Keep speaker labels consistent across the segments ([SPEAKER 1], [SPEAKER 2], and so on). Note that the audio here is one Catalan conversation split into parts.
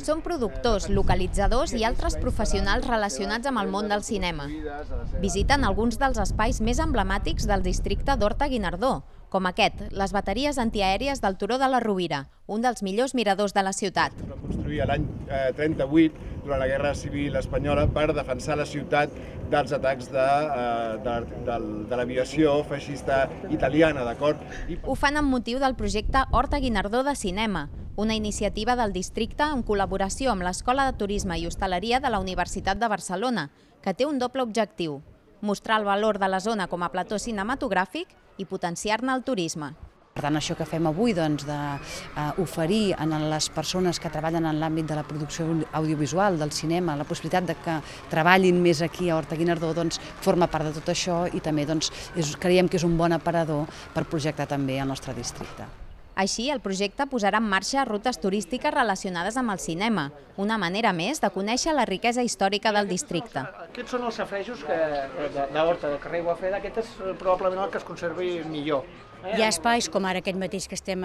[SPEAKER 1] Són productors, localitzadors i altres professionals relacionats amb el món del cinema. Visiten alguns dels espais més emblemàtics del districte d'Horta-Guinardó, com aquest, les bateries antiaèries del Turó de la Rovira, un dels millors miradors de la ciutat.
[SPEAKER 2] Es va construir l'any 38, durant la Guerra Civil Espanyola, per defensar la ciutat dels atacs de l'aviació feixista italiana, d'acord?
[SPEAKER 1] Ho fan amb motiu del projecte Horta-Guinardó de Cinema, una iniciativa del districte en col·laboració amb l'Escola de Turisme i Hostaleria de la Universitat de Barcelona, que té un doble objectiu: mostrar el valor de la zona com a plató cinematogràfic i potenciar-ne el turisme.
[SPEAKER 3] Per tant, això que fem avui, d'oferir a les persones que treballen en l'àmbit de la producció audiovisual, del cinema, la possibilitat de que treballin més aquí a Horta-Guinardó, forma part de tot això i també creiem que és un bon aparador per projectar també el nostre districte.
[SPEAKER 1] Així, el projecte posarà en marxa rutes turístiques relacionades amb el cinema, una manera més de conèixer la riquesa històrica del districte.
[SPEAKER 4] Aquests són els safareigs d'Horta, del carrer Guafreda. Aquest és probablement el que es conservi millor.
[SPEAKER 5] Hi ha espais, com ara aquest mateix que estem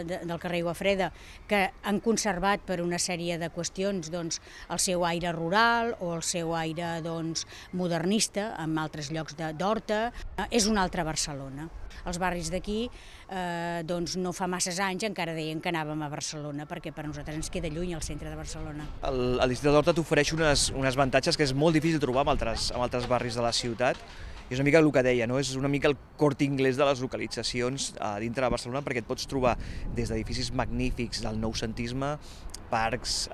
[SPEAKER 5] del carrer Guafreda, que han conservat per una sèrie de qüestions el seu aire rural o el seu aire modernista en altres llocs d'Horta. És una altra Barcelona. Els barris d'aquí, no fa masses anys, encara deien que anàvem a Barcelona, perquè per nosaltres ens queda lluny el centre de Barcelona.
[SPEAKER 6] El districte d'Horta t'ofereix uns avantatges que és molt difícil trobar en altres barris de la ciutat. És una mica el que deia, és una mica el Corte Inglés de les localitzacions dintre de Barcelona, perquè et pots trobar des d'edificis magnífics del noucentisme, parcs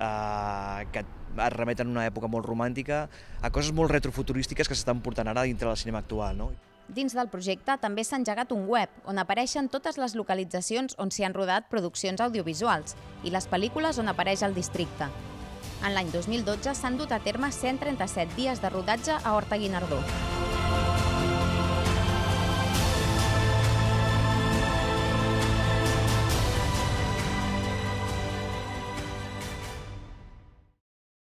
[SPEAKER 6] que et remeten a una època molt romàntica, a coses molt retrofuturístiques que s'estan portant ara dintre del cinema actual.
[SPEAKER 1] Dins del projecte també s'ha engegat un web on apareixen totes les localitzacions on s'hi han rodat produccions audiovisuals i les pel·lícules on apareix el districte. En l'any 2012 s'han dut a terme 137 dies de rodatge a Horta-Guinardó.